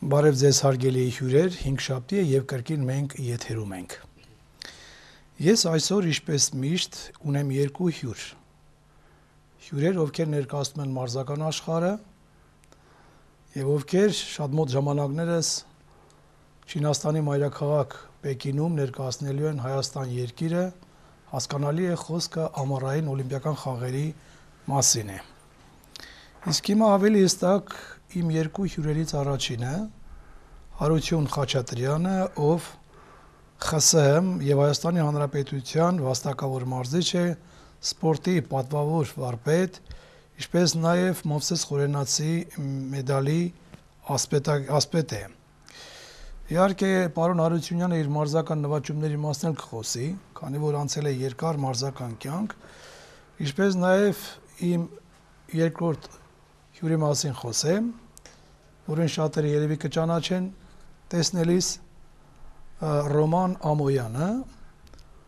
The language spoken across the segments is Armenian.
Բարև ձեզ հարգելի հյուրեր, 5 շաբթի է եւ կրկին մենք եթերում ենք։ Ես այսօր ինչպես միշտ ունեմ երկու հյուր։ Հյուրեր, ովքեր ներկայացնում են մարզական աշխարհը եւ ովքեր շատ մոտ ժամանակներս Չինաստանի մայրաքաղաք Պեկինում ներկայացնելու են Հայաստան երկիրը, հասկանալի է խոսքը ամառային օլիմպիական խաղերի մասին է։ Իսկ հիմա ավելի հստակ իմ երկու հյուրերից առաջինը Հարություն Խաչատրյանը, ով ԽՍՀՄ եւ Հայաստանի Հանրապետության վաստակավոր մարզիչ է, սպորտի պատվավոր վարպետ, ինչպես նաեւ Մովսես Խորենացի մեդալի ասպետ է։ Իհարկե, պարոն Հարությունյանը իր մարզական նվաճումների մասին էլ կխոսի, քանի որ անցել է երկար մարզական կյանք, ինչպես նաեւ իմ երկրորդ հյուրի մասին խոսեմ, որին շատերը երևի կճանաչեն տեսնելիս Ռոման Ամոյանը,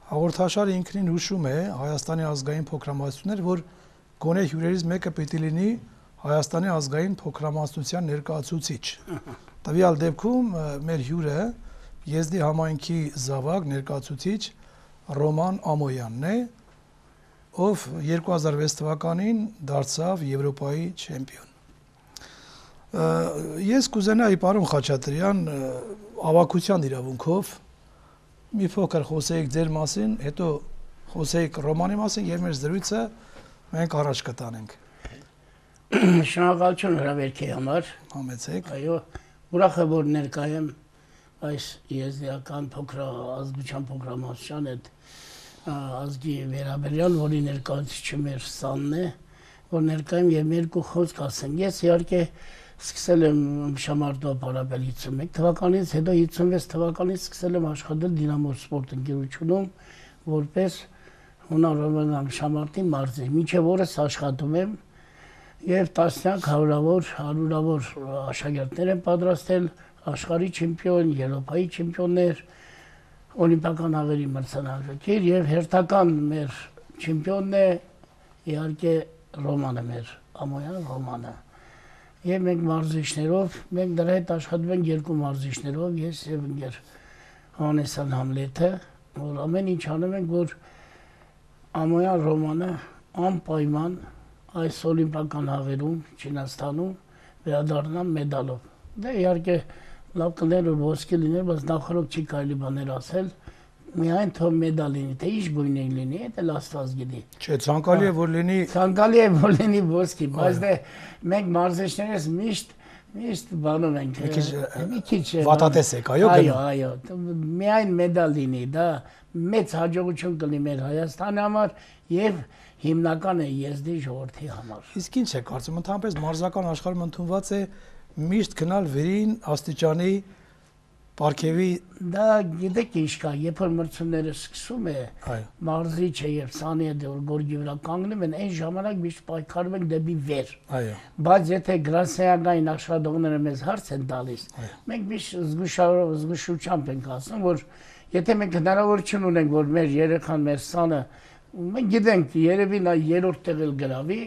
հաղորդաշարը ինքնին հուշում է Հայաստանի ազգային փոքրամասնություններ, որ գոնե հյուրերից մեկը պիտի լինի Հայաստանի ազգային փոքրամասնության ներկայացուցիչ։ Տվյալ դեպքում մեր հյուրը Եզդի համայնքի զավակ ներկայացուցիչ Ռոման Ամոյանն է, ով 2006 թվականին դարձավ Եվրոպայի չեմպիոն։ Ես կուզենայի պարոն Խաչատրյան ավագության իրավունքով մի փոքր խոսեիք ձեր մասին, հետո խոսեիք Ռոմանի մասին եւ մեր զրույցը մենք առաջ կտանենք։ Շնորհակալություն հրավերքի համար։ Համեցեք։ Այո, ուրախ եմ որ ներկա եմ այս եզդիական ազգության փոքրամասնության հետ ազգի վերաբերյալ, որի ներկայացուցիչը մեր սանն է, որ ներկա եմ եւ երկու խոսք ասեմ։ Ես իհարկե սկսել եմ Շամարտո պարապել 51 թվականից, հետո 56 թվականից սկսել եմ աշխատել Դինամո սպորտ ընկերությունում որպես հունարոման Շամարտի մարզիչ, մինչև օրս աշխատում եմ եւ տասնյակ հարյուրավոր աշակերտներ եմ պատրաստել, աշխարհի չեմպիոն, Եվրոպայի չեմպիոններ, օլիմպիական աղերի մրցանակակիր եւ հերթական մեր չեմպիոնն է իհարկե Ռոմանը, մեր Ամոյան Ռոմանը։ Եվ մենք մարզիչներով, մենք դրա հետ աշխատում ենք երկու մարզիչներով, ես եւ ընկեր Հովհաննեսյան Համլեթը, որ ամեն ինչ անում ենք, որ Ամոյան Ռոմանը անպայման այս օլիմպիական աղերում Չինաստանում վերադառնա մեդալով։ Դե իհարկե լավ կներ որ ոսկի լիներ, բայց նախորդ չի կարելի բաներ ասել, միայն թող մեդալ լինի, թե ինչ գույն լինի, դա էլ Աստված գիտի։ Չէ, ցանկալի է որ լինի։ Ցանկալի է որ լինի ոսկի, բայց դե մենք մարզիչներս միշտ բանում ենք։ Մի քիչ վատատես եք, այո։ Այո, միայն մեդալ լինի, դա մեծ հաջողություն կլինի մեր Հայաստանի համար եւ հիմնական է Եզդի ժողովրդի համար։ Իսկ ինչ է կարծում, ընդհանրապես մարզական աշխարհում ընդունված է միշտ գնալ վերին աստիճանի Պարքևի դա գիտեք ինչ կա, երբ որ մրցումները սկսում է, մարզիչը եւ սանի հետ գորգի վրա կանգնում են, այն ժամանակ միշտ պայքարում են դեպի վեր։ Այո։ Բայց եթե գրասենյակային աշխատողները մեզ հարց են տալիս, մենք միշտ զգուշությամբ ենք ասում, որ եթե մենք հնարավորություն ունենք, որ մեր երեխան, մեր սանը, մենք գիտենք, երևի նա երրորդ տեղ էլ գրավի,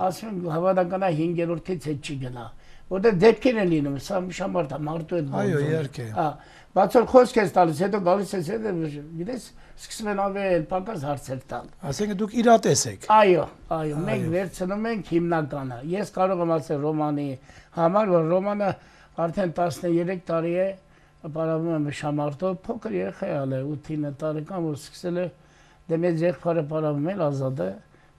ասում ենք հավանական է 5-րդից հետ չի գնա։ Որտեղ դեպքեր են լինում, սա Շամարտա մարդու հետ Այո, իհարկե։ Բայց որ խոսք ես տալիս, հետո գալիս ես, գիտես, սկսում են ավելի պակաս հարցեր տալ։ Ասենք դուք իրատես եք։ Այո, մենք վերցնում ենք հիմնականը։ Ես կարող եմ ասել Ռոմանի համար, որ Ռոմանը արդեն 13 տարի է պարապում է Շամարտով, փոքր երեխա է, 8-9 տարեկան, որ սկսել է դե մեծ եղբայրը պարապում է Ազատը,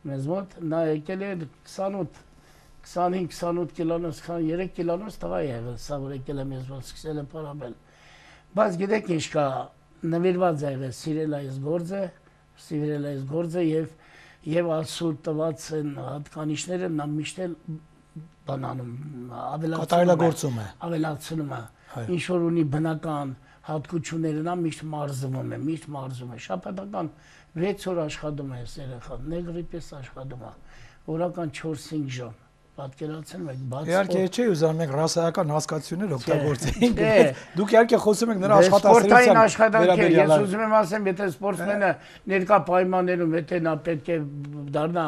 մեզ մոտ, նա եկել է 25-28 կիլոնոց, 23 կիլոնոց տղա է եղել, սա որ եկել է մեզ մոտ սկսել է պարապել։ Բայց գիտեք ինչ կա, նվիրված է եղել սիրել այս գործը եւ Աստծո տված են հատկանիշները նա միշտ էլ բանանում ավելացնում է։ Ինչ որ ունի բնական հատկությունները նա միշտ մարզվում է, շաբաթական 6 օր աշխատում է երեխան, նեգրի պես աշխատում է, օրական 4-5 ժամ։ պատկերացնում եք, բաց իհարկե չէ ուզում ենք ռասայական հասկացություններ օգտագործենք, դուք իհարկե խոսում եք նրա աշխատասիրության աշխատանքի ես ուզում եմ ասեմ, եթե սպորտսմենը ներկա պայմաններում եթե նա պետք է դառնա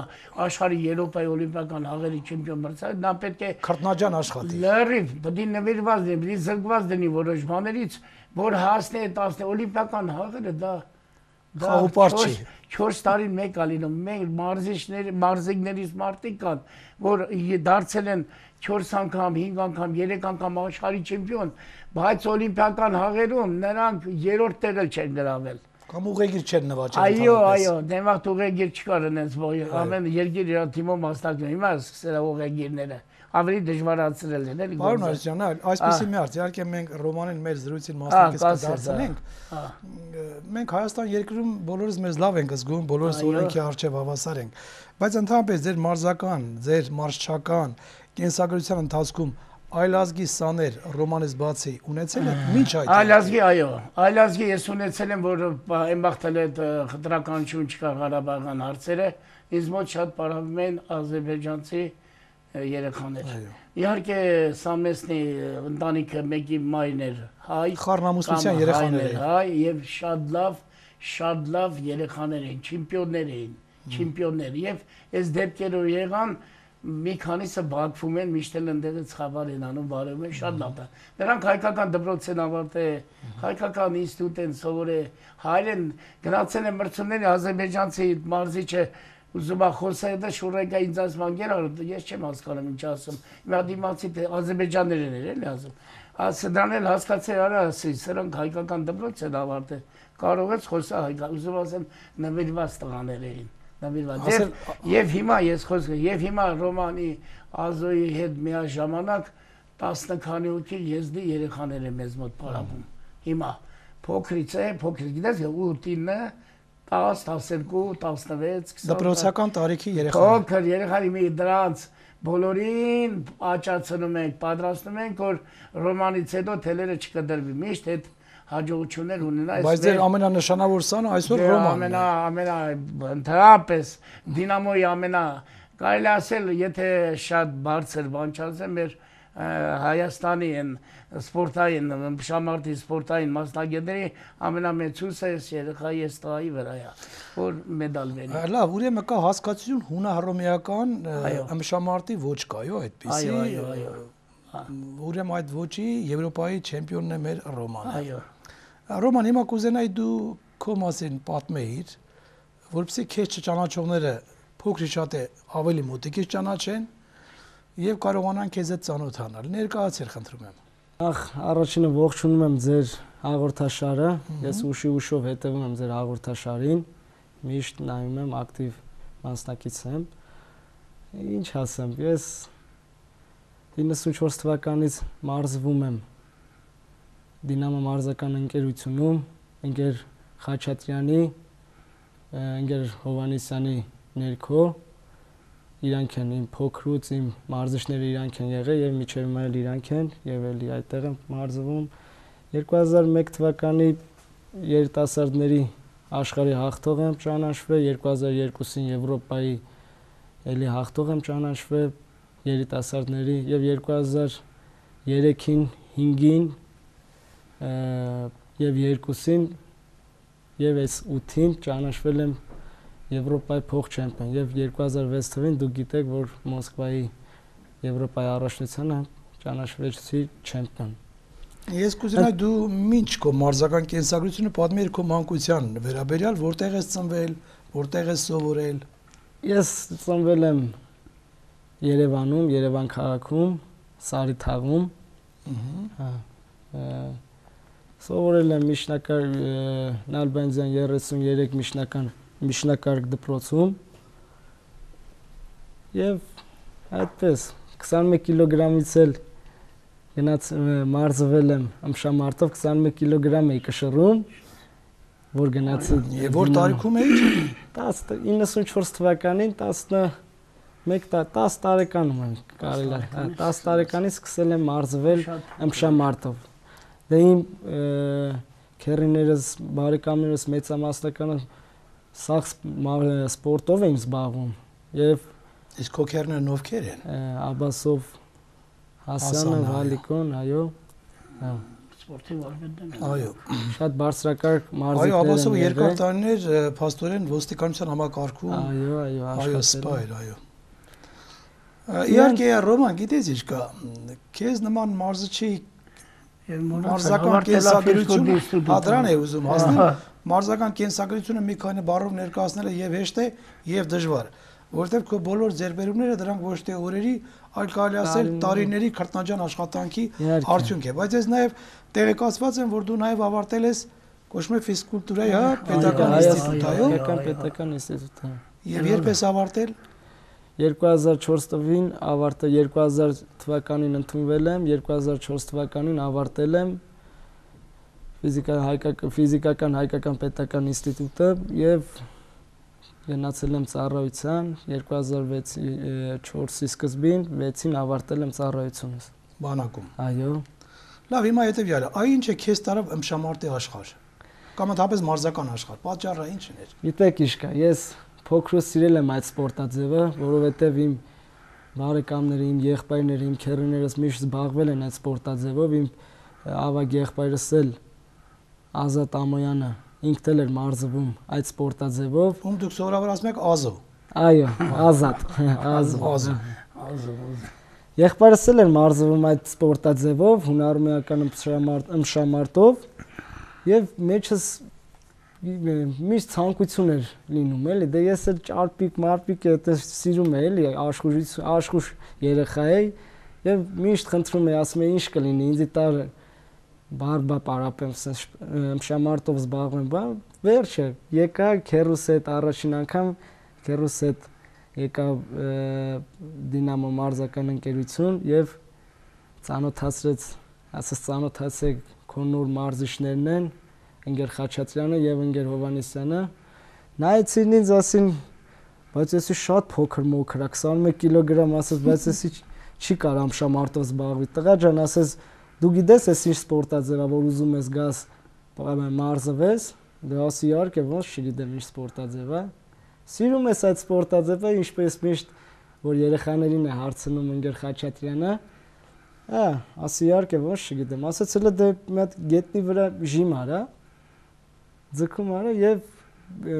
աշխարհի Եվրոպայի օլիմպիական հաղերի չեմպիոն մրցարար, նա պետք է քրտնաջան աշխատի։ Լրիվ պետք է նվիրված լինի, պետք է զրկված լինի որոշ բաներից, որ հասնի այդ օլիմպիական հաղերը դա խաղապար չի։ 4 տարին մեկ ալինում, մենք մարզիկներից մարդիկ կան, որ դարձել են 4 անգամ, 5 անգամ, 3 անգամ աշխարհի չեմպիոն, բայց օլիմպիական հաղերում նրանք երրորդ տեղը չեն գրավել։ Կամ ուղեգիր չեն նվաճել։ Այո, դեմաղ ուղեգիր չկար այնպես, ամեն երկիր իր թիմով մասնակցում, հիմա սկսել է ուղեգիրները ավելի դժվարացրել են, էլի։ Պարոն Արզյան, այսպեսի մի հարց, իհարկե մենք Ռոմանին մեր զրույցին մասնակից կդարձնենք։ Մենք Հայաստան երկրում բոլորս մեզ լավ ենք զգում, բոլորս օրենքի առջև հավասար ենք, բայց ընդհանրապես ձեր մարզական, ձեր մարզչական կենսագրության ընթացքում այլազգի սաներ Ռոմանից բացի ունեցել եք ինչ այդ։ Այլազգի, այո, այլազգի ես ունեցել եմ, որ այն բախտել այդ խտրականություն չկա Ղարաբաղյան հարցերը, ինձ մոտ շատ պարավում են ազերբայջանցի երեխաներ։ Իհարկե Սամեսնի ընտանիքը մեկի մայրն էր հայ, խառնամուսնության երեխաներ էին, հայ եւ շատ լավ երեխաներ էին, չեմպիոններ եւ այս դեպքերով եղան մի քանիսը Բաքվում են, միշտ էլ ընդդեղից խաբար են անում, բարևում են, շատ լավ է։ Նրանք հայկական դպրոց են ավարտել, հայկական ինստիտուտ են սովորել, հայերեն գնացել են մրցումների ազերբայջանցի մարզիչը ուզում է խոսել դա շուրեկա ինձ ասում անգեր ես չեմ հասկանում ինչ ասում։ Հիմա դիմացի ազերբայջաններն էր էլի ասում։ Դրան էլ հասկացել արա ասի, սրանք հայկական դպրոց են ավարտել։ Կարող ես խոսալ հայկական, ուզում ասեմ նվիրված տղաներ էին։ Եվ հիմա ես խոսքը, եւ հիմա Ռոմանի Ազոյի հետ միաժամանակ 10 քանի հոգի եզդի երեխաներ է մեզ մոտ պարապում։ Հիմա փոքրից է, գիտես 8-9, 10, 12, 16, 20 դպրոցական տարիքի երեխաներ։ Փոքր երեխաների մի դրանց բոլորին աճացնում ենք, պատրաստում ենք, որ Ռոմանից հետո թելերը չկդրվի, միշտ այդ հաջողություններ ունենա։ Բայց ձեր ամենանշանավոր սանը այսօր Ռոմանն է։ Ընդհանրապես Դինամոյի կարելի ասել, եթե շատ բարձր բան չասեմ, մեր Հայաստանի են սպորտային, շամարտի սպորտային մասնագետների ամենամեծ հույսը այս երեխայի այս տղայի վրա է, որ մեդալ վերի։ Լավ, ուրեմն կա հասկացություն հունահռոմեական ըմբշամարտի ոչ կայո այդպիսի։ Այո։ Ուրեմն այդ ոչի Եվրոպայի չեմպիոնն է մեր Ռոմանը։ Այո։ Ռոման, հիմա կուզենայի դու քո մասին պատմեիր, որպեսզի քեզ չճանաչողները փոքր շատ է ավելի մոտիկից ճանաչեն եւ կարողանան քեզ հետ ծանոթանալ։ Ներկայացիր, խնդրում եմ։ Ախ, առաջինը ողջունում եմ ձեր հաղորդաշարը։ Ես ուշով հետևում եմ ձեր հաղորդաշարին։ Միշտ նայում եմ, ակտիվ մասնակից եմ։ Ինչ ասեմ, ես 94 թվականից մարզվում եմ Դինամո մարզական ընկերությունում, ընկեր Խաչատրյանի, ընկեր Հովանեսյանի ներքո, իրանք են իմ փոքրուց իմ մարզիչները իրանք են եղել եւ միջև հիմա էլ իրանք են եւ էլի այդտեղ եմ մարզվում 2001 թվականի երիտասարդների աշխարհի հաղթող եմ ճանաչվել 2002-ին Եվրոպայի էլի հաղթող եմ ճանաչվել երիտասարդների եւ 2003-ին 5-ին եւ 2-ին եւ այս 8-ին ճանաչվել եմ Եվրոպայի փոխ-չեմպիոն եւ 2006 թվականին դուք գիտեք, որ Մոսկվայի Եվրոպայի առաջնությանը ճանաչվեցի չեմպիոն։ Ես կուզենայի դու ինչ քո մարզական կենսագրությունը պատմիր քո մանկության վերաբերյալ, որտեղ ես ծնվել, որտեղ ես սովորել։ Ես ծնվել եմ Երևանում, Երևան քաղաքում, Սարիթաղում։ Սովորել եմ Նալբանդյան 33 միջնակարգ դպրոցում եւ այդպես 21 կիլոգրամից էլ գնաց մարզվել եմ ըմբշամարտով 21 կիլոգրամ էի կշռում որ գնացի եւ որ տարիքում էի 94 թվականին 10 տարեկանում եմ կարելի է 10 տարեկանից սկսել եմ մարզվել ըմբշամարտով դե իմ քերիներս բարեկամներս մեծամասնականը սաղ սպորտով էին զբաղվում եւ Իսկ քոքերներն ովքեր են։ Աբասով Հասանը, Վալիկոն, այո։ Սպորտի վարպետն է։ Այո։ Շատ բարձրակարգ մարզիկներ են։ Այո, Աբասովը երկար տարիներ փաստորեն ոստիկանության համակարգում։ Այո, աշխատել, այո։ Իհարկե Ռոման, գիտես ինչ կա, քեզ նման մարզչի մարզական կենսագրությունը, դրան է ուզում հասնել, մարզական կենսագրությունը մի քանի բառով ներկայացնելը եւ հեշտ է եւ դժվար, որովհետեւ քո բոլոր ձեռբերումները դրանք ոչ թե օրերի, այլ կարելի ասել տարիների քրտնաջան աշխատանքի արդյունք է, բայց ես նաեւ տեղեկացված եմ, որ դու նաեւ ավարտել ես կոչվում է ֆիզկուլտուրայի, հա, պետական ինստիտուտ, այո, պետական ինստիտուտ, հա։ Եվ երբ ես ավարտել 2004 թվականին ավարտել 2000 թվականին ընդունվել եմ 2004 թվականին ավարտել եմ ֆիզիկական հայկական պետական ինստիտուտը եւ գնացել եմ ծառայության 2006-4-ի սկզբին 6-ին ավարտել եմ ծառայությունս բանակում այո լավ հիմա հետեւյալը այ ինչ է քեզ տարավ ըմբշամարտի աշխարհ կամ ընդհանրապես մարզական աշխարհ պատճառը ինչն էր գիտեք ինչ կա ես փոքրուց սիրել եմ այդ սպորտաձևը, որովհետև իմ բարեկամները, իմ եղբայրները, իմ քեռիներս միշտ զբաղվել են այդ սպորտաձևով, իմ ավագ եղբայրս էլ Ազատ Ամոյանը ինքն էլ էր մարզվում այդ սպորտաձևով։ Ում դուք սովորաբար ասում եք Ազո։ Այո, Ազատ, Ազո։ Եղբայրս էլ էր մարզվում այդ սպորտաձևով, հունարմեական ըմբշամարտով, եւ մեջս միշտ ցանկություն էր լինում էլի դե ես էլ ճարպիկ մարպիկ այդպես սիրում եմ էլի աշխուժ երեխա էի եւ միշտ խնդրում էի ասում էի ինչ կլինի ինձ տար բարբա պարապեմ ըմբշամարտով զբաղվեմ բան վերջը եկա քերուս հետ առաջին անգամ քերուս հետ եկա Դինամո մարզական ընկերություն եւ ծանոթացրեց ասես ծանոթացեք քո նոր մարզիչներն են Ընկեր Խաչատրյանը եւ ընկեր Հովանեսյանը նայեցին ինձ ասին բայց էսի շատ փոքր մոքր է 21 կիլոգրամ ասես բայց էսի չի կարող ըմբշամարտով զբաղվի տղա ջան ասես դու գիտես էս ինչ սպորտաձև է որ ուզում ես գաս մարզվես դե ասի իհարկե ոնց չգիտեմ ինչ սպորտաձև է սիրում ես այդ սպորտաձևը ինչպես միշտ որ երեխաներին է հարցնում ընկեր Խաչատրյանը ասի իհարկե ոնց չգիտեմ ասեց հələ դե մի հատ գետնի վրա ժիմ արա ձգում արա եւ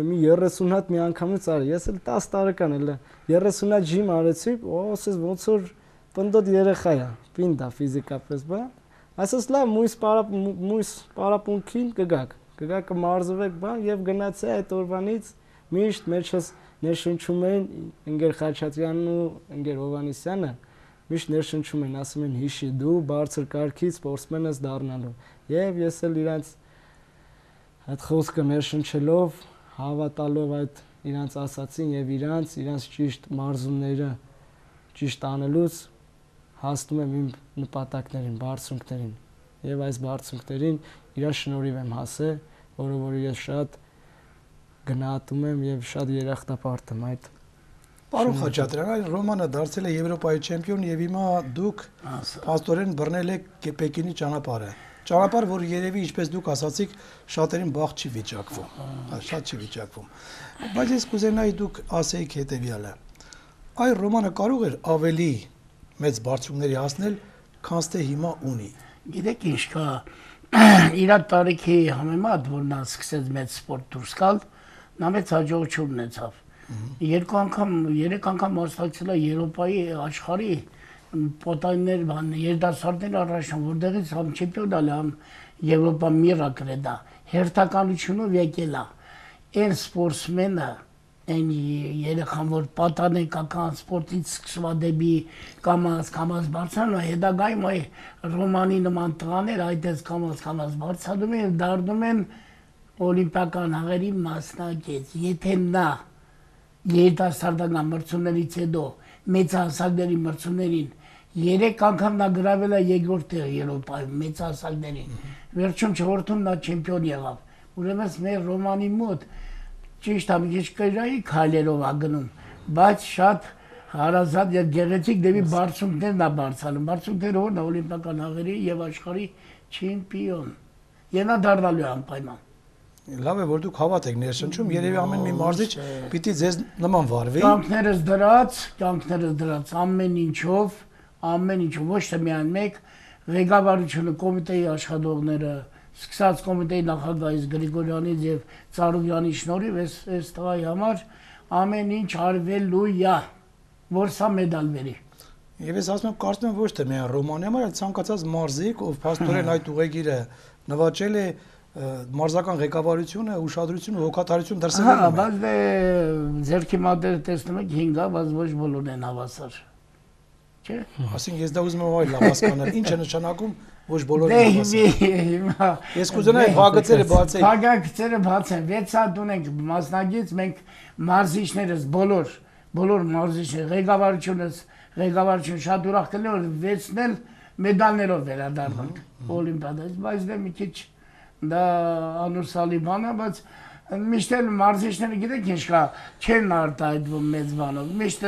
մի 30 հատ մի անգամից արի ես էլ 10 տարեկան էլ 30 հատ ժիմ արեցի ասես ոնց որ պնդոտ երեխա է պինդ է ֆիզիկապես բա ասես լավ մույս պարապունքին կգաք կմարզվեք բան եւ գնացի այդ օրվանից միշտ մեջս ներշնչում են ընկեր Խաչատրյանն ու ընկեր Հովանեսյանը միշտ ներշնչում են ասում են հիշի դու բարձր կարգի սպորտսմեն ես դառնալու եւ ես էլ իրանց այդ խոսքը ներշնչելով հավատալով այդ իրանց ասացին եւ իրանց ճիշտ մարզումները ճիշտ անելուց հասնում եմ իմ նպատակներին, բարձունքներին եւ այս բարձունքներին իրա շնորհիվ եմ հասել, որը ես շատ գնահատում եմ եւ շատ երախտապարտ եմ այդ Պարոն Խաչատրյան, այլ Ռոմանը դարձել է Եվրոպայի չեմպիոն եւ հիմա դուք փաստորեն բռնել եք Պեկինի ճանապարհը։ Ճանապարհ, որ երևի ինչպես դուք ասացիք, շատերին բախ չի վիճակվում, շատ չի վիճակվում։ Բայց ես կուզենայի դուք ասեիք հետեւյալը. այ Ռոմանը կարող էր ավելի մեծ բարձունքների հասնել, քան թե հիմա ունի։ Գիտեք ինչ կա, իր տարիքի համեմատ, որ նա սկսեց մեծ սպորտ դուրս գալ, նա մեծ հաջողություն ունեցավ։ Երկու անգամ, երեք անգամ մասնակցել է Եվրոպայի աշխարհի պոտայներ բան երդասարտներ առաջան որտեղից համ չեմպիոնալ համ Եվրոպա միրակլ է դա հերթականությունով եկել է այն սպորտսմենը այն երեխան որ պատանեկական սպորտից սկսવા դեպի կամաց բարձրանում հետագայում այ Ռոմանի նման տղաներ այդպես կամաց բարձրանում են դառնում են օլիմպիական հաղերի մասնակից եթե նա երիտասարդական մրցումներից հետո մեծահասակների մրցումներին 3 անգամ նա գրավել է երկրորդ տեղը Եվրոպայում մեծահասակներին վերջում չորրորդում նա չեմպիոն եղավ ուրեմն մեր Ռոմանի մոտ ճիշտ ամիջի կրայի քայլերով ա գնում բայց շատ հարազատ եւ գեղեցիկ դեպի բարձունքներն ա բարձրանում բարձունքները որն է օլիմպիական հաղերի եւ աշխարհի չեմպիոն եւ նա դառնալու է անպայման Լավ է, որ դուք հավատ եք ներշնչում, երևի ամեն մի մարզիչ պիտի ձեզ նման վարվի։ Կյանքներս դրած ամեն ինչով, ոչ թե միայն մեկ, ղեկավարությունը, կոմիտեի աշխատողները, սկսած կոմիտեի նախագահից Գրիգորյանից եւ Ծառուկյանի շնորհիվ այս տղայի համար ամեն ինչ արվելու է, որ սա մեդալ բերի։ Եվ ես ասում եմ, կարծում եմ ոչ թե միայն Ռոմանի համար, այլ ցանկացած մարզիկ, ով փաստորեն այդ ուղեգիրը նվաճել է, մարզական ղեկավարությունը, ուշադրություն ու հոգատարություն դրսևորում է։ Հա, բայց դե ձերքի մատերը տեսնում եք 5-ա, բայց ոչ բոլորն են հավասար։ Չէ՞։ Այսինքն ես դա ուզում եմ այլ լավ հասկանալ, ինչ է նշանակում ոչ բոլորը հավասար։ Ես կուզենայի բաղգծերը բացել։ Բաղգծերը բացեն, 6 հատ ունենք մասնագից, մենք մարզիչներս բոլոր մարզիչները, ղեկավարությունը շատ ուրախ կլինի, որ 6-ն էլ մեդալներով վերադառնանք օլիմպիադայից, բայց դե մի քիչ դա անուսալի բան է, բայց միշտ էլ մարզիչները գիտեք ինչ կա, չեն արտահայտվում մեծ բանով, միշտ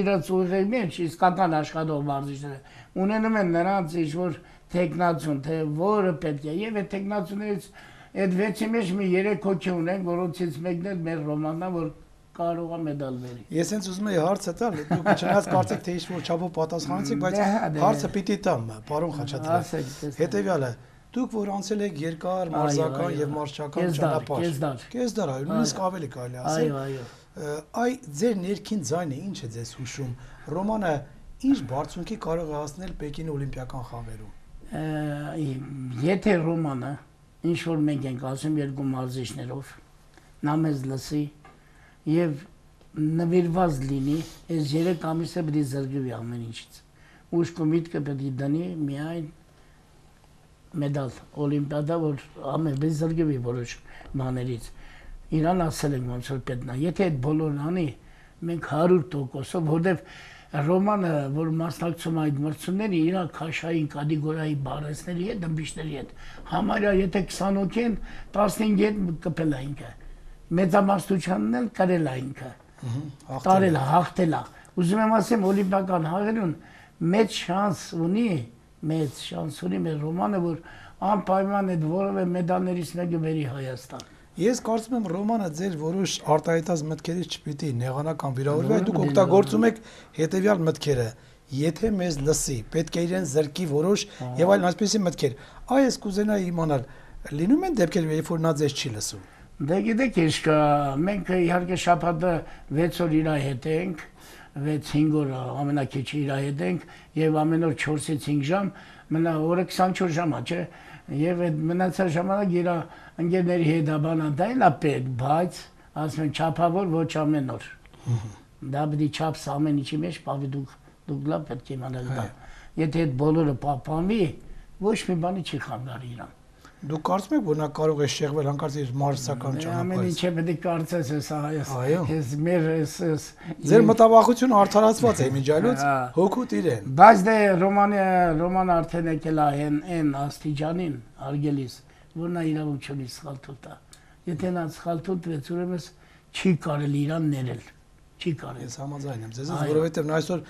իրաց ուղեղի մեջ իսկական աշխատող մարզիչները ունենում են նրանց ինչ-որ տեխնացիոն, թե որը պետք է, եւ այդ տեխնացիաներից այդ 6-ի մեջ մի 3 հոգի ունենք, որոնցից մեկն էլ մեր Ռոմանն է, որ կարող է մեդալ բերի։ Ես հենց ուզում եի հարցը տալ, դուք չնայած կարծեք թե ինչ-որ չափով պատասխանեցիք, բայց հարցը պիտի տամ, պարոն Խաչատրյան։ Հետևյալը, դուք որ անցել եք երկար մարզական եւ մարզչական ճանապարհ։ Կեսդար, նույնիսկ ավելի կարելի ասել։ Այ ձեր ներքին ձայնը ինչ է ձեզ հուշում։ Ռոմանը ինչ բարձունքի կարող է հասնել Պեկինի օլիմպիական խաղերում։ Եթե Ռոմանը ինչ որ մենք ենք ասում երկու մարզիչներով, նա մեզ լսի եւ նվիրված լինի, այս 3 ամիսը պետք է զրկվի ամեն ինչից։ Ուշք ու միտքը պետք է դնի միայն մեդալ օլիմպիադա, որ ամեն բես զրկվի որոշ բաներից։ Իրան ասել ենք ոնց որ պետք է։ Եթե այդ բոլորն անի, մենք 100%-ով, որովհետեւ Ռոմանը, որ մասնակցում այդ մրցումների, իր քաշային կատեգորիայի բարեսների հետ, դմբիչների հետ, համարյա եթե 20 հոգի են, 15 հետ կպել է ինքը։ Մեծամասնությանն էլ կրել է ինքը։ Տարել է, հաղթել է։ Ուզում եմ ասեմ, օլիմպիական հաղերուն մեծ շանս ունի մեր Ռոմանը, որ անպայման այդ որևէ մեդալներից մեկը բերի Հայաստան։ Ես կարծում եմ Ռոմանը ձեր որոշ արտահայտած մտքերից չպիտի նեղանական վիրավորվի, այլ դուք օգտագործում եք հետևյալ մտքերը. եթե մեզ լսի, պետք է իրեն զրկի որոշ եւ այլ այսպիսի մտքեր։ Այ ես կուզենայի իմանալ, լինում են դեպքեր, երբ որ նա ձեզ չի լսում։ Դե գիտեք ինչ կա, մենք իհարկե շաբաթը 6 օր իր հետ ենք, 6-5 օր ամենակիչը իր հետ ենք եւ ամեն օր 4-ից 5 ժամ, մնա օրը 24 ժամ է, չէ՞։ Եվ այդ մնացած ժամանակ իր ընկերների հետ բանա դա էլ է պետք, բայց ասում են չափավոր ոչ ամեն օր։ Դա պետք է չափս ամեն ինչի մեջ պահվի, դուք լավ պետք է իմանալ դա։ Եթե այդ բոլորը պահպանվի, ոչ մի բանի չի խանգարի իրան։ Դուք կարծում եք, որ նա կարող է շեղվել հանկարծ իր մարզական ճանապարհից։ Ամեն ինչը պետք է կարծես այս մեր Ձեր մտավախությունը արդարացված է միջայլոց, հոգուտ իրեն։ Բայց դե Ռոման արդեն եկել է այն աստիճանին արգելիս, որ նա իրավունք չունի սխալ թույլ։ Եթե նա սխալ թույլ տվեց, ուրեմն չի կարելի իրան ներել։ Չի կարելի։ Ես համաձայն եմ ձեզ, որովհետև նա այսօր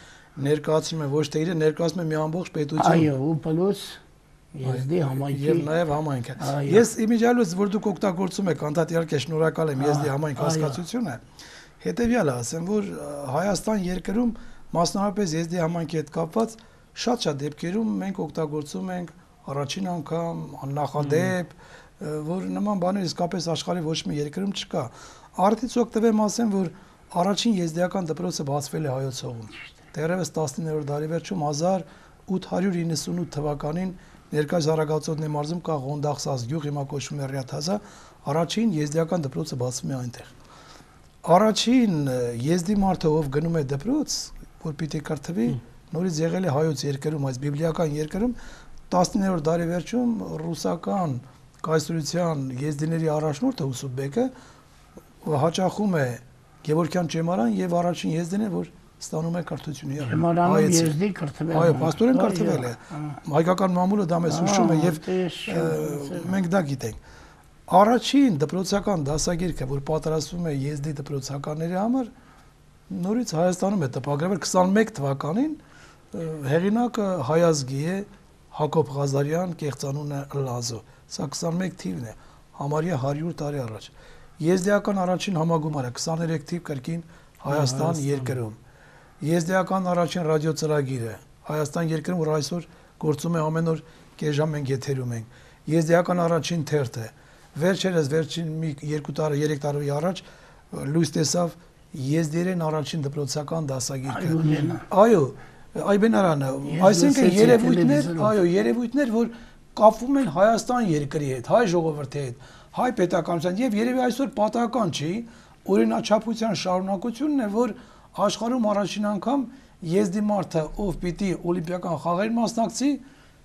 ներկայացնում է ոչ թե իրեն, ներկայացնում է մի ամբողջ պետություն։ Այո, ու պլյուս Եզդի համայնքի եւ նաեւ համայնքը։ Ես իմիջիալուց որ դուք օգտագործում եք անդադ իհարկե շնորհակալ եմ Եզդի համայնք հասկացությունը։ Հետեւյալը ասեմ, որ Հայաստան երկրում մասնավորապես Եզդի համայնքի հետ կապված շատ դեպքերում մենք օգտագործում ենք առաջին անգամ աննախադեպ, որ նման բաներ իսկապես աշխարհի ոչ մի երկրում չկա։ Արդից օգտվեմ ասեմ, որ առաջին եզդիական դպրոցը բացվել է Հայոց հողում։ Դեռևս 19-րդ դարի վերջում 1898 թվականին Ներկայիս Արագածոտնի մարզում կա Ղոնդախսաս գյուղ, հիմա կոչվում է Ռիաթազա, առաջին եզդիական դպրոցը բացվում է այնտեղ։ Առաջին եզդի մարդը, ով գնում է դպրոց, որ պիտի կրթվի, նորից եղել է Հայոց երկրում, այս բիբլիական երկրում 19-րդ դարի վերջում ռուսական կայսրության եզդիների առաջնորդը Ուսուբեկը հաճախում է Գևորգյան ճեմարան եւ առաջին եզդին է, որ ստանում է կրթությունը։ Ճեմարանը եզդի կրթվել։ Այո, պաստորեն կրթվել է։ Հայկական մամուլը դա մեզ հուշում է եւ մենք դա գիտենք։ Առաջին դպրոցական դասագիրքը, որ պատրաստվում է եզդի դպրոցականների համար, նորից Հայաստանում է տպագրվել 21 թվականին, հեղինակը հայազգի է Հակոբ Ղազարյան, կեղծանունը Լազո։ Սա 21 թիվն է։ համարյա 100 տարի առաջ։ Եզդիական առաջին համագումարը 23 թիվ կրկին Հայաստան երկրում։ Եզդիական առաջին ռադիոծրագիրը Հայաստան երկրում, որ այսօր գործում է ամեն օր կես ժամ մենք եթերում ենք։ Եզդիական առաջին թերթը վերջերս վերջին մի 2 տարի 3 տարի առաջ լույս տեսավ եզդերեն առաջին դպրոցական դասագիրքը։ Այո, Այբենարանը, այսինքն երևույթներ, որ կապվում են Հայաստան երկրի հետ, հայ ժողովրդի հետ, հայ պետականության եւ երևի այսօր պատահական չի, օրինաչափության շարունակությունն է, որ աշխարհում առաջին անգամ եզդի մարդը, ով պիտի օլիմպիական խաղերին մասնակցի,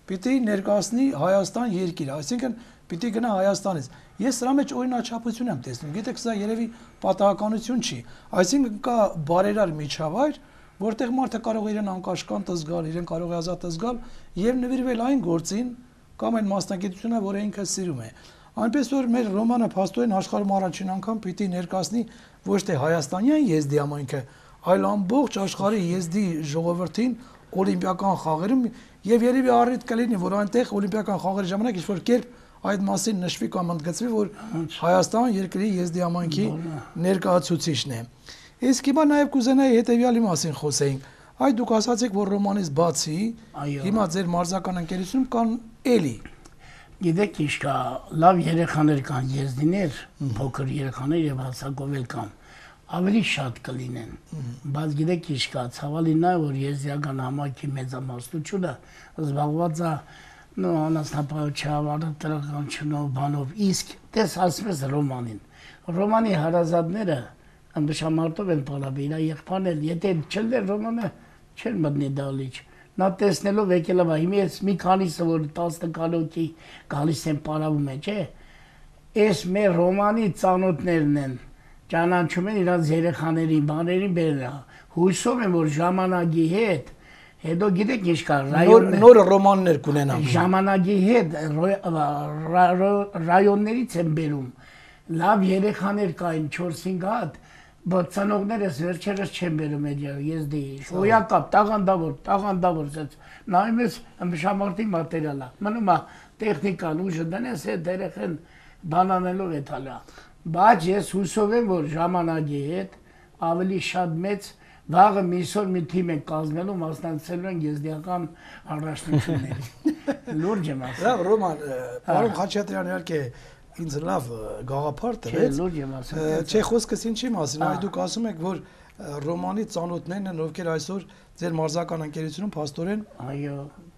պիտի ներկայացնի Հայաստան երկիրը, այսինքն պիտի գնա Հայաստանից։ Ես սրա մեջ օրինաչափություն եմ տեսնում, գիտեք, սա երևի պատահականություն չի, այսինքն կա բարերար միջավայր, որտեղ մարդը կարող է իրեն անկաշկանդ զգալ, իրեն կարող է ազատ զգալ եւ նվիրվել այն գործին կամ այն մասնագիտությունը, որը ինքը սիրում է։ Այնպես որ մեր Ռոմանը փաստորեն աշխարհում առաջին անգամ պիտի ներկայացնի ոչ թե հայաստանյան եզդի համայնքը, այլ ամբողջ աշխարհի եզդի ժողովրդին օլիմպիական խաղերում եւ երևի առիթ կլինի, որ այնտեղ օլիմպիական խաղերի ժամանակ ինչ-որ կերպ այդ մասին նշվի կամ ընդգծվի, որ Հայաստան երկրի եզդի համայնքի ներկայացուցիչն է։ Իսկ հիմա նաև կուզենայի հետևյալի մասին խոսեինք։ Այ դուք ասացիք, որ Ռոմանից բացի հիմա ձեր մարզական ընկերությունում կան էլի։ Գիտեք, ինչ կա, լավ երեխաներ կան, եզդիներ, փոքր երեխաներ եւ հասակով էլ կան։ Ավելի շատ կլինեն։ Բայց գիտեք, ինչ կա, ցավալին է, որ եզդիական համայնքի մեծամասնությունը զբաղված է անասնապահությամբ, արտադրականությունով, բանով, իսկ դες ասես Ռոմանին։ Ռոմանի հարազատները Անդուշամարտով են պարաբի, իրա եղբան էլ, եթե չլներ Ռոմանը չեն մտնի դալիչ։ Նա տեսնելով եկել է, հիմի ես մի քանիսը, որ 10 կանոքի գալիս են պարավում է, չէ, ես մեր Ռոմանի ծանոթներն են, ճանաչում են իրանց երեխաներին, բաներին բերել, հույսով են, որ ժամանակի հետ, հետո գիտեք ինչ կա, նոր ռոմաններ կունենան։ Ժամանակի հետ ռայոններից են բերում, լավ երեխաներ կային 4-5 հատ, բայց ծնողներս վերջերս չեն բերում եզդի, շոյակապ, տաղանդավոր, նայում ես ըմբշամարտի մատերիալ է, մնում է տեխնիկան ուժը դնես հետ երեխեն բանանելով է թալա, բայց ես հուսով եմ, որ ժամանակի հետ ավելի շատ մեծ վաղը միսոր մի թիմ են կազմելու, մասնակցելու են եզդիական առաջնությունների, լուրջ եմ ասել։ Լավ, Ռոման, պարոն Խաչատրյան իհարկե ինձ լավ գաղափար տվեց, չէ խոսքս ինչի մասին, այ դուք ասում եք, որ Ռոմանի ծանոթներն են, ովքեր այսօր ձեր մարզական ընկերությունում փաստորեն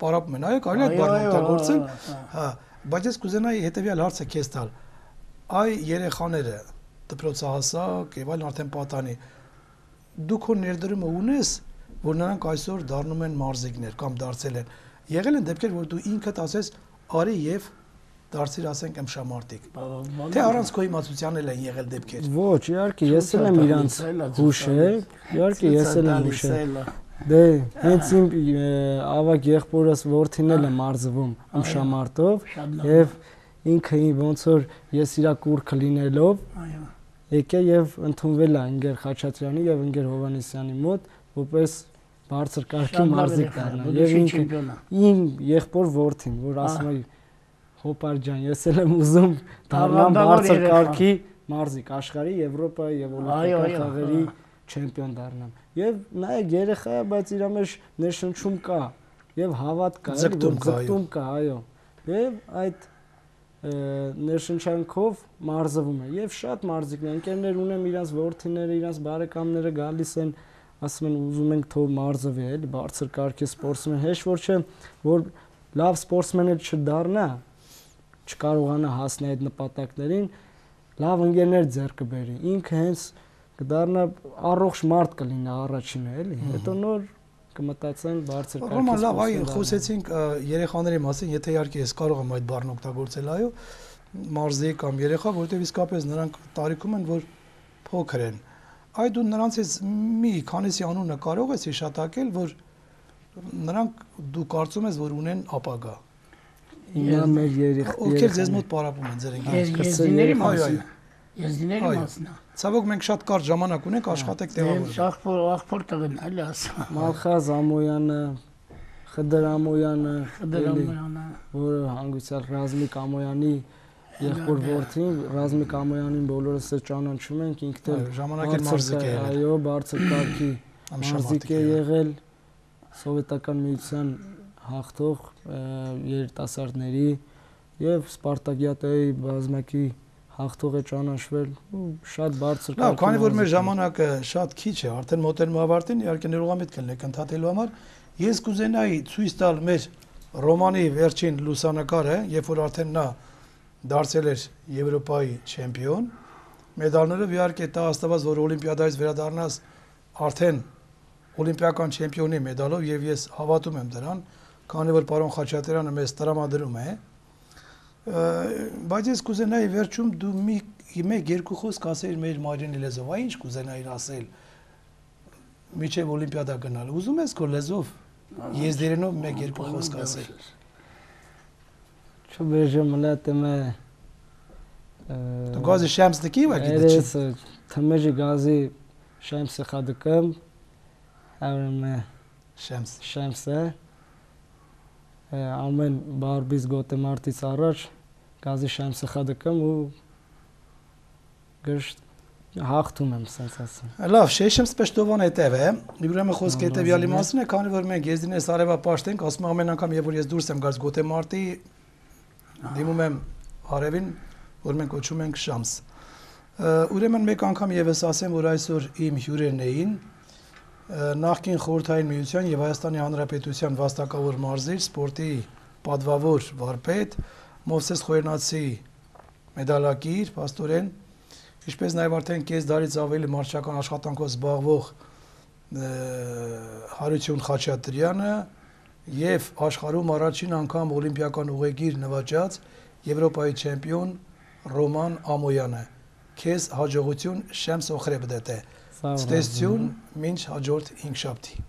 պարապում են, այո, կարելի է բառն օգտագործել, բայց ես կուզենայի հետևյալ հարցը քեզ տալ, այ երեխաները, դպրոցահասակ եւ այլն արդեն պատանի, դու քո ներդրումը ունես, որ նրանք այսօր դառնում են մարզիկներ կամ դարձել են, եղել են դեպքեր, որ դու ինքդ ասես, արի եւ դարձիր ասենք ըմբշամարտիկ։ Թե առանց քո իմացության էլ են եղել դեպքեր։ Ոչ, իհարկե, ես էլ եմ իրանց հուշել, իհարկե ես էլ եմ հուշել։ Դե, հենց իմ ավագ եղբորս որդին էլ է մարզվում ըմբշամարտով եւ ինքը ոնց որ ես իրա կուրքը լինելով եկե եւ ընդունվել է ընկեր Խաչատրյանի եւ ընկեր Հովանեսյանի մոտ, որպես բարձր կարգի մարզիկ դառնա։ Եվ ինքը իմ եղբոր որդին, որ ասում է Հոպար ջան, ես էլ եմ ուզում դառնամ բարձր կարգի մարզիկ, աշխարհի, Եվրոպայի եւ օլիմպիական խաղերի չեմպիոն դառնամ։ Եվ նայեք երեխա է, բայց իր մեջ ներշնչում կա եւ հավատ կա, ձգտում կա, այո։ Եվ այդ ներշնչանքով մարզվում է եւ շատ մարզիկներ, ընկերներ ունեմ, իրանց որդիները, իրանց բարեկամները գալիս են, ասում են ուզում ենք թող մարզվի, էլի բարձր կարգի սպորտսմեն, հեշտ որ չէ, որ լավ սպորտսմեն չդառնա, չկարողանա հասնել այդ նպատակներին, լավ ընկերներ ձեռք բերի, ինքը հենց կդառնա առողջ մարդ կլինի առաջինը, էլի, հետո նոր կմտածեն բարձր կարգի։ Ռոման, լավ, այ խոսեցինք երեխաների մասին, եթե իհարկե ես կարող եմ այդ բառն օգտագործել, այո, մարզիկ կամ երեխա, որովհետև իսկապես նրանք տարիքում են, որ փոքր են։ Այ դու նրանցից մի քանիսի անունը կարող ես հիշատակել, որ նրանք դու կարծում ես, որ ունեն ապագա։ Հիմա մեր երեխաները ովքեր ձեզ մոտ պարապում են ձեր ընկերների մասին։ Եզդիների մասն է։ Ցավոք մենք շատ կարճ ժամանակ ունենք, աշխատեք տեղավորել։ Աղբոր տղեն, այլ ասա։ Մալխազ Ամոյանը, Խդր Ամոյանը, որը հանգուցյալ Ռազմիկ Ամոյանի եղբոր որդին Ռազմիկ Ամոյանին բոլորս է ճանաչում ենք, ինքն էլ ժամանակին մարզիկ է եղել։ Այո, բարձր կարգի մարզիկ է եղել, սովետական միության հաղթող երիտասարդների եւ Սպարտակիադայի բազմակի հաղթող է ճանաչվել ու շատ բարձր կարգի։ Լավ, քանի որ մեր ժամանակը շատ քիչ է, արդեն մոտենում ավարտին, իհարկե ներողամիտ կլինեք ընդհատելու համար, ես կուզենայի ցույց տալ մեր Ռոմանի վերջին լուսանկարը, երբ որ արդեն նա դարձել էր Եվրոպայի չեմպիոն, մեդալներով իհարկե տա աստված, որ օլիմպիադայից վերադառնաս արդեն օլիմպիական չեմպիոնի մեդալով եւ ես հավատում եմ դրան, քանի որ պարոն Խաչատրյանը մեզ տրամադրում է, բայց ես կուզենայի վերջում դու մեկ-երկու խոսք ասեիր մեր մայրենի լեզվով, ինչ կուզենայիր ասել միջև օլիմպիադա գնալ, ուզում ես քո լեզվով եզդերենով մեկ-երկու խոսք ասել։ Չբեժը մլատեմը Դու գազի շեմս դկի ու գիտի չի։ Թմեջի գազի շեմսը խադկım, հավրմը շեմսը ամեն բարբից գոտեմարտից առաջ գազի շեմսը խադկım ու գշտ հաղթում եմ սենց ասեմ։ Լավ, շեշեմ սպեշտովան հետև է, ուրեմն խոսքը հետևյալի մասին է, քանի որ մենք եզդինես արևապաշտ ենք, ասում ամեն անգամ երբ որ ես դուրս եմ գալիս գոտեմարտի դիմում եմ արևին, որ մենք կոչում ենք շամս։ Ուրեմն մեկ անգամ եւս ասեմ, որ այսօր իմ հյուրերն էին նախկին խորհրդային միության եւ Հայաստանի Հանրապետության վաստակավոր մարզիչ, սպորտի պատվավոր վարպետ Մովսես Խոյենացի մեդալակիր, պաստորեն, ինչպես նաեւ արդեն կես դարից ավելի մարզչական աշխատանքով զբաղվող Հարություն Խաչատրյանը եւ աշխարհում առաջին անգամ օլիմպիական ուղեգիր նվաճած Եվրոպայի չեմպիոն Ռոման Ամոյանը։ Քեզ հաջողություն, Շեմս Օխրեբդետ է։ Ստեսություն, մինչ հաջորդ 5 շաբթի։